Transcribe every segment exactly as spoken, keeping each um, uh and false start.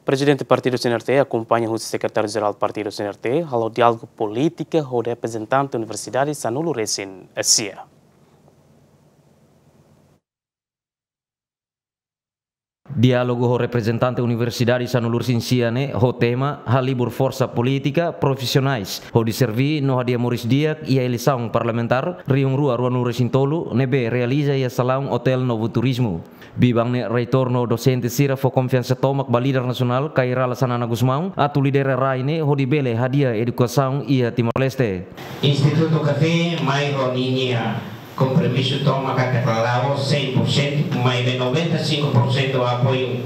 Prezidente Partidu C N R T akompaña husi Sekretáriu Jerál Partidu C N R T halo diálogu polítika ho reprezentante Universidade sanulu-resin-sia. Diálogu ho reprezentante Universidade sanulu-resin-sia ne'e ho tema halibur forsa polítika profisionais hodi serví no hadi'a moris di'ak iha eleisaun parlamentár rihun rua ruanulu-resin-tolu ne'ebé realiza iha salaun Hotel Novo Turismo. Biban ne'e reitór no dosente sira fó konfiansa tomak ba líder nasionál Kay Rala Xanana Gusmão atu lidera rai ne'e hodi bele hadi'a edukasaun iha Timor-Leste. Institutu Café mai ho ninia kompromisu tomak katak la'ós cem por cento, maibé noventa e cinco por cento apoiu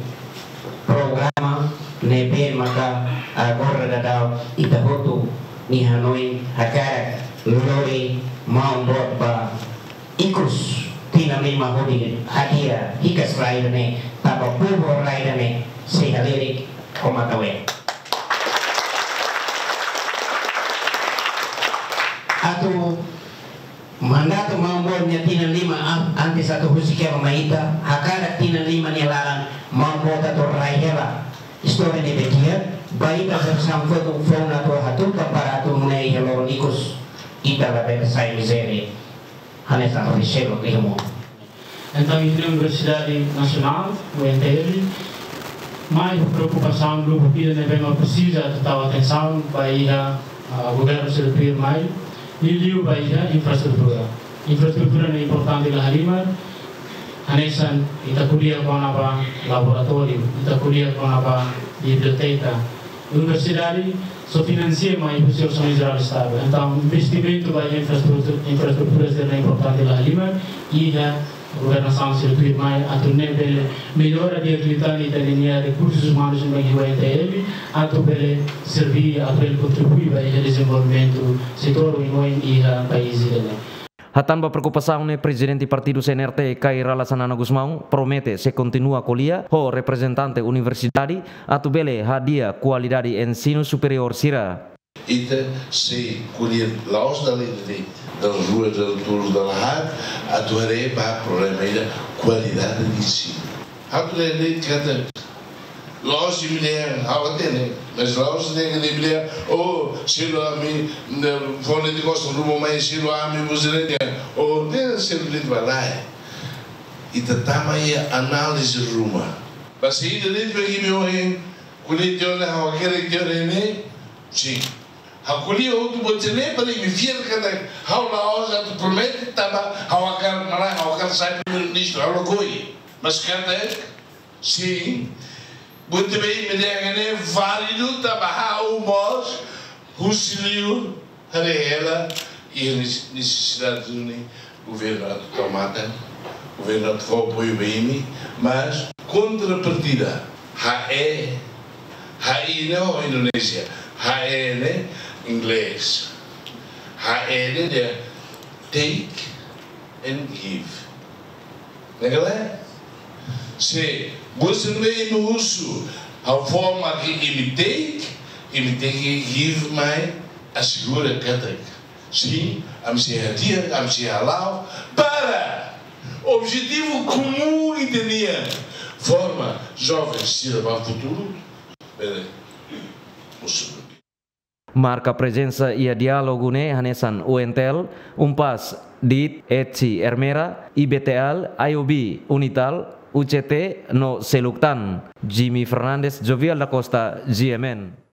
programa ne'ebé maka agora daudaun ita hotu nia hanoin hakarak lori maun boot ba ikus tinan lima hodi hadi'a hikas rai ida-ne'e, tanba povu rai ida-ne'e sei halerik ho matan-ween. Atu mandatu maun boot nia tinan lima an-, antes atu husik hela mai ita, hakarak tinan lima nia laran maun boot atu rai hela istória ne'ebé di'ak ba ita jerasaun foun-, foun atu hatutan para atu nune'e iha loron ikus ita labele sai mizéria hanesan rai seluk iha mundu. Entaun, iha Universidade Nasionál, U N T L, mai ho preokupasaun grupu ida ne'ebé mak presiza atu tau atensaun ba iha, ah, governu sira tuirmai, liuliu ba iha infraestrutura. Infraestrutura ne'e importante la halimar, hanesan ita ko'alia kona-ba laboratóriu, ita ko'alia kona-ba biblioteka. Universidade só finansia mai husi Orsamentu Jerál Estadu. Entaun, investimentu ba infraestrutura, infraestrutura sira ne'e importante la halimar, iha governasaun sira tuirmai atu nune'e bele mellora di'ak liután ita-nia rekursus umanus ne'ebé iha U N T L, atu bele serví, atu bele kontribui ba iha dezenvolvimentu setór oioin iha país ida-ne'e. Hatán ba preokupasaun ne'e, Prezidente Partidu C N R T Kay Rala Xanana Gusmão promete sei kontinua ko'alia ho reprezentante universidade atu bele hadi'a kualidade ensinu superiór sira. Ita sei ko'alia la'ós dala ida de'it, dala rua, dala tolu, dala haat, atu haree ba problema ida kualidade de ensinu. Atu haree de'it katak la'ós imi dehan ha'u hatene, mas la'ós dehan imi dehan, oh, selu ami, ne, fone de kosta ruma mai selu ami buzireña, oh, dehan selu de'it ba lae. Ita tama iha análize ruma. Ba saida de'it ba imi ohin, ko'alia tiha ona ha'u hakerek tiha ona ne'e, sin. Ha'u ko'alia hotu buat sira-ne'e para imi fiar katak ha'u la'ós atu promete tanba ha'u hakarak, malah ha'u hakarak sai primeiru-ministru, ha'u lakohi. Mas katak, sin, buat ne'ebé imi dehan ne'e válidu tanba ha'u mós husi liur haree hela iha neses-, nesesidade duni governu atu tau matan, governu atu fó apoiu ba imi, mas kontrapartida, H E, H I ne'e ho Indonézia, H E ne'e inglés, H E ne'e dehan take and give. Ne'e ka lae? Se buat sira-ne'ebé imi husu, ha'u fó mak imi take, imi tenke give mai, asegura katak, sin, ami sei hadi'a, ami sei hala'o, para objetivu komún ita-nian, forma jovens sira ba futuru, bele mosu. Marka prezensa iha diálogu ne'e hanesan U N T L, UNPAZ, DIT, ETSI, Ermera, I B T L, I O B, UNITAL, U C T no seluk tan. Jimmy Fernandes, Jovial da Costa, G M N.